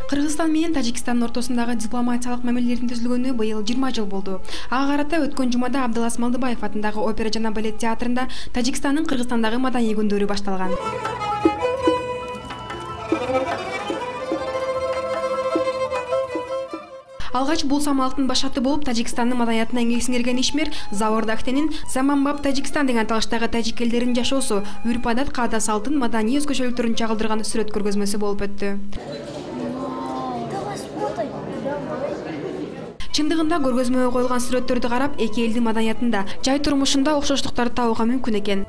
Кыргызстан менен Тажикстандын ортосундагы дипломатиялык мамилелердин түзүлгөнүнө быйыл 20 жыл болду. Ага карата өткөн жумада Абдылас Малдыбаев атындагы опера жана балет театрында Тажикстандын Кыргызстандагы маданий күндөрү башталган. Алгач бул самалыктын башаты болуп Тажикстандын маданиятына эңек сиңирген ишмер Завор Дахтенин Заманбап Тажикстан деген аталыштагы тажик элдеринин жашоосу, үрп-адат, каада салтын, маданий өзгөчөлүктөрүн чагылдырган сүрөт көргөзмөсү болуп өттү. Чындыгында көргөзмөгө коюлган сүрөттөрдү карап, эки элдин маданиятында, жай турмушунда окшоштуктарды табууга мүмкүн экен.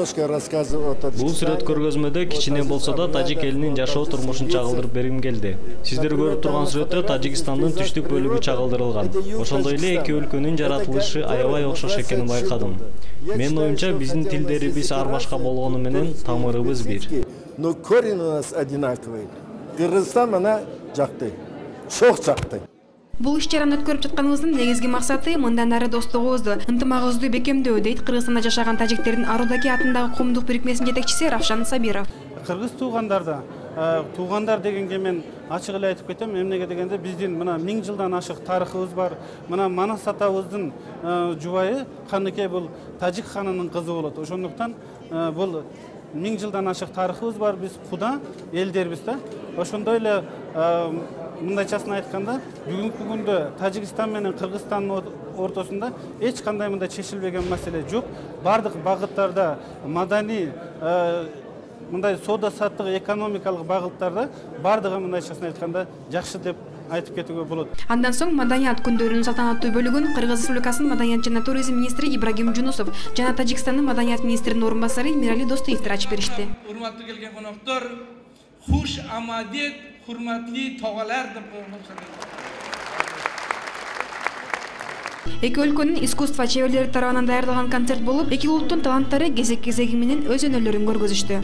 Бул сүрөт көргөзмөдө кичине болсо да тажик элинин жашоо турмушун чагылдырып бергим келди. Сиздер көрүп турган сүрөттө Тажикстандын түштүк бөлүгү чагылдырылган. Ошондой эле эки өлкөнүн жаратылышы аябай окшош экенин байкадым. Менин оюмча биздин тилдерибиз ар башка болгону менен тамырыбыз бир. Но корень у нас одинаковый. Кыргызстан мана жакты. Чок жакты. Бул иш-чараны өткөрүп жатканыбыздын негизги максаты мындан ары достугубузду, ынтымагыбызды бекемдөө, дейт Кыргызстанда жашаган тажиктердин Арудаки атындагы коомдук бирикмесинин жетекчиси Равшан Сабиров. Кыргыз туугандар дегенге мен ачык эле айтып кетем, эмнеге дегенде биздин мына 1000 жылдан ашык тарыхыбыз бар. Мына Манас атабыздын жубайы Каныкей бул тажик ханынын кызы болот. Ошондуктан бул 1000 жылдан ашык тарыхыбыз бар, биз куда элдербиз да. Ошондой эле мындайчасын айтканда, бүгүнкү күндө Тажикстан менен Кыргызстандын ортосунда эч кандай мындай чечилбеген маселе жок. Бардык багыттарда маданий мындай соода-саттык, экономикалык багыттарда бардыгы мындайчасын айтканда жакшы деп айтып кетүүгө болот. Андан соң маданият күндөрүнүн салтанаттуу бөлүгүн Кыргыз Республикасынын маданият жана туризм министри Ибрагим Жунусов жана Тажикстандын маданият министринин орун басары Мирали Достуевдер ачып беришти. Урматтуу келген коноктор, хуш амадет, hurmatli to'g'alar deb Эки өлкөнүн искусство чеберлери тарабынан даярдалган концерт болуп, эки улуттун таланттары кезек-кезеги менен өз өнөрлөрүн көргөзүштү.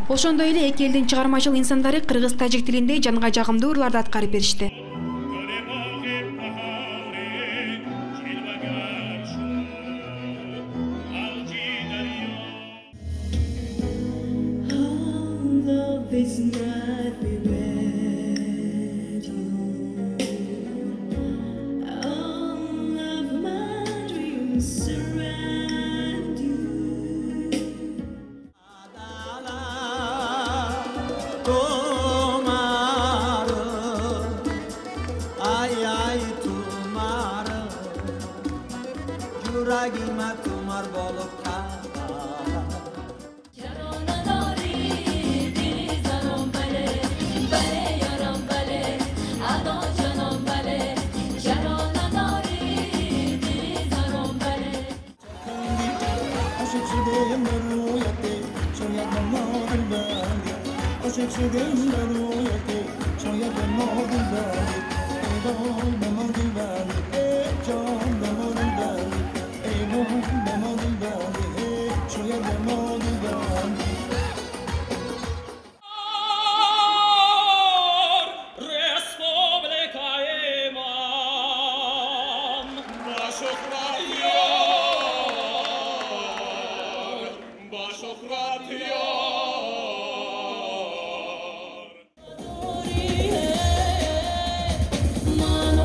Ошондой эле эки элдин чыгармачыл инсандары кыргыз-тажик тилинде жанга жагымдуу ырларды аткарып беришти. Mano,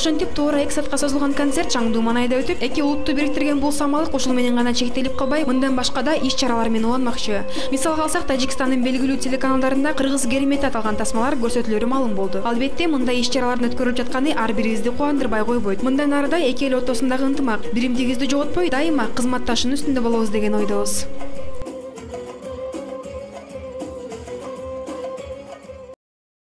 Ошентип туура 2 саатка созулган концерт Чаңдуу Манайда өтүп, эки улутту бириктирген бул самалык ушул менен гана чектелип калбай, мындан башка да иш-чаралар менен уланмакчы. Мисалга алсак, Тажикстандын белгилүү телеканалдарында кыргыз керемети аталган тасмалар көрсөтүлөрү маалым болду. Албетте, мындай иш-чаралардын өткөрүлүп жатканы ар бирибизди кубандырбай койбойт. Мындан ары да эки эл ортосундагы ынтымак, биримдигибизди жоготпой, дайыма кызматташуунун үстүндө болобуз деген ойдобуз.